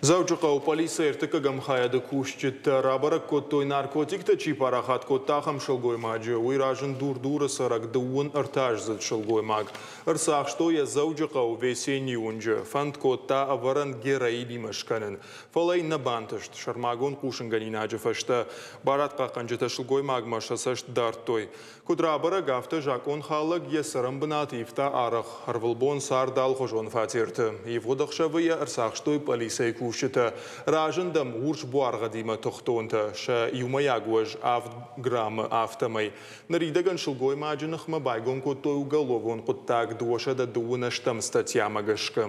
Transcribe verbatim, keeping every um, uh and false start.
Дзӕуджыхъӕуы пъӕлицӕйы ӕртыккӕгӕм хайады кусджытӕ рабӕрӕг кодтой, наркотиктӕ чи парахат кодта, ахӕм сылгоймаджы. Уый разынд Дур-Дуры цӕрӕг дыууын ӕртӕаздзыд сылгоймаг. Ӕрцахстой йӕ Дзӕуджыхъӕуы Весеннийы уынджы. Фӕнд кодта ӕвӕрӕн героинимӕ скӕнын. Фӕлӕ йын нӕ бантыст. Сӕрмагонд хъусынгӕнинаджы фӕстӕ барадхъахъхъӕнджытӕ сылгоймагмӕ сӕ цӕст дардтой. Куыд рабӕрӕг, афтӕ закъонхалӕг йӕ цӕрӕнбынат ивта арӕх. Ӕрвылбон цард алыхуызон фатерты. Ивгъуыд ӕхсӕвы йӕ ӕрцахстой пъӕлицӕйы кусджытӕ. Разынд ӕм урс буаргъӕдимӕ тыхтонтӕ, сӕ иумӕйаг уӕз авд граммы, афтӕмӕй. Ныридӕгӕн сылгоймаджы ныхмӕ байгом кодтой уголовон хъуыддаг дыууӕсӕдӕ дыууын ӕстӕм статьямӕ гӕсгӕ.